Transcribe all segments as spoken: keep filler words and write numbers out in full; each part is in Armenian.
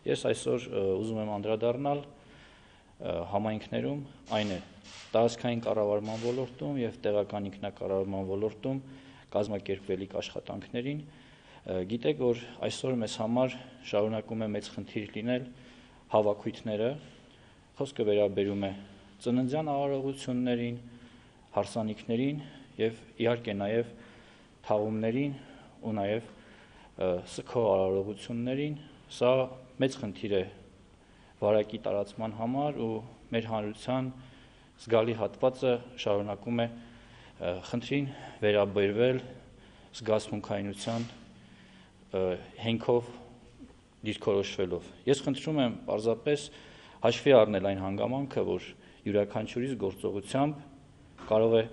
Ես այսօր ուզում եմ անդրադառնալ համայնքներում, այն է տարածքային կառավարման ոլորտում և տեղական ինքնակառավարման ոլորտում կազմակերպվելիք աշխատանքներին։ Գիտեք, որ այսօր մեզ համար շարունակում է մեծ խնդիր լինել հավաքույթները, խոսքը վերաբերում է ծննդյան արարողություններին, հարսանիքներին և իհարկե նաև թաղումներին ու նաև սգո արարողություններին։ Սա մեծ խնդիր է վարակի տարածման համար ու մեր հանրության զգալի հատվածը շարունակում է խնդրին վերաբերվել զգացմունքայնության հենքով դիրքորոշվելով։ Ես խնդրում եմ պարզապես հաշվի առնել այն հանգամանքը, որ յուրաքանչյուրիս գործողությամբ կարող է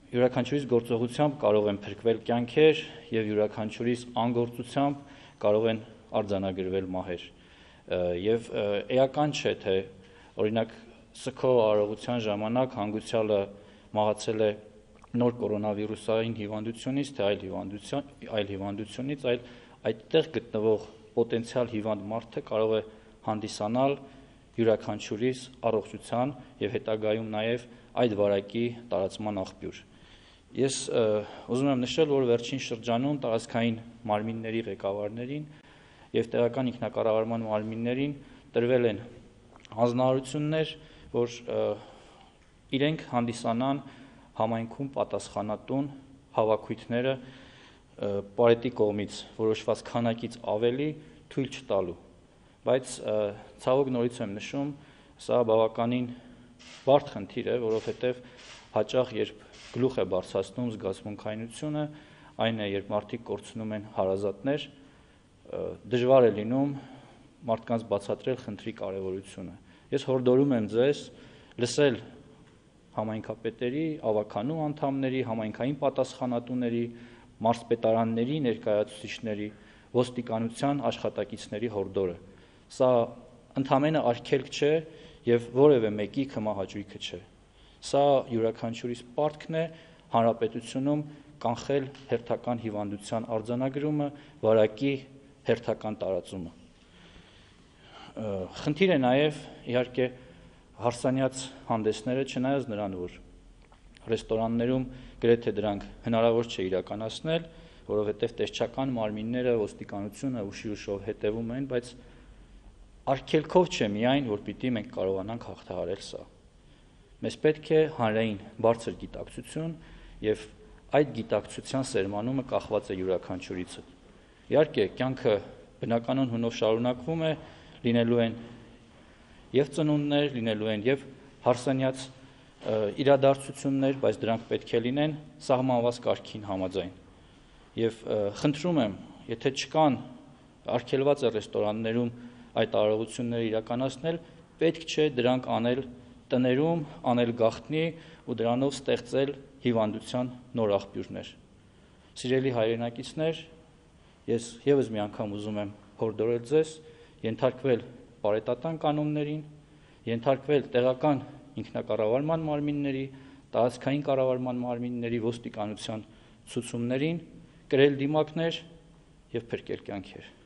յուրաքանչյուրիս գործողությամբ կարող են փրկվել կյանքեր և յուրաքանչյուրիս անգործությամբ կարող են արձանագրվել մահեր։ Եվ էական չէ, թե օրինակ սգո արարողության ժամանակ հանգուցյալը մահացել է նոր կորոնավիրուսային հիվանդությունից, թե այլ հիվանդությունից, այլ այդտեղ գտնվող պոտենցիալ հիվանդ մարդը կարող է հանդիսանալ յուրաքանչյուրիս առողջության և հետագայում նաև այդ վարակի տարածման աղբյուր։ Ես ուզում եմ նշել, որ վերջին շրջանում տարածքային մարմինների ղեկավարներին և տեղական ինքնակառավարման մարմիններին տրվել են հանձնարարություններ, որ իրենք հանդիսանան համայնքում պատասխանատուն հավաքույթները պարետի կողմից որոշված քանակից ավելի թույլ չտալու, բայց ցավոք նորից եմ նշում, սա բավականին բարդ խնդիր է, որովհետև հաճախ երբ գլուխ է բարձրացնում զգացմունքայնությունը, այն է, երբ մարդիկ կորցնում են հարազատներ, դժվար է լինում մարդկանց բացատրել խնդրի կարևորությունը։ Ես հորդորում եմ ձեզ լսել համայնքապետերի, ավագանու անդամների, համայնքային պատասխանատուների, մարզպետարանների ներկայացուցիչների, ոստիկանության աշխատակիցների հորդորը։ Սա ընդամենը արգելք չէ և որևէ մեկի քմահաճույքը չէ։ Սա յուրաքանչյուրիս պարտքն է հանրապետությունում կանխել հերթական հիվանդության արձանագրումը, վարակի հերթական տարածումը։ Խնդիր է նաև իհարկե հարսանյաց հանդեսները, չնայած նրան, որ ռեստորաններում գրեթե դրանք հնարավոր չէ իրականացնել, որովհետև տեսչական մարմինները, ոստիկանությունը ուշի ուշով հետևում են, բայց արգելքով չէ միայն, որ պիտի մենք կարողանանք հաղթահարել սա։ Մեզ պետք է հանրային բարձր գիտակցություն և այդ գիտակցության սերմանումը կախված է յուրաքանչյուրիցդ։ Իհարկե, կյանքը բնականon հունով շարունակվում է, լինելու են և ծնունդներ, լինելու են և հարսանյաց իրադարձություններ, բայց դրանք պետք է լինեն սահմանված կարգին համաձայն։ Եվ խնդրում եմ, եթե չկան, արգելված է ռեստորաններում այդ արարողությունները իրականացնել, պետք չէ դրանք անել տներում, անել գաղտնի ու դրանով ստեղծել հիվանդության նոր աղբյուրներ։ Սիրելի հայրենակիցներ, ես ևս մի անգամ ուզում եմ հորդորել ձեզ ենթարկվել պարետատան կանոններին, ենթարկվել տեղական ինքնակառավարման մարմինների, տարածքային կառավարման մարմինների, ոստիկանության ցուցումներին, կրել դիմակներ և փրկել կյանքեր։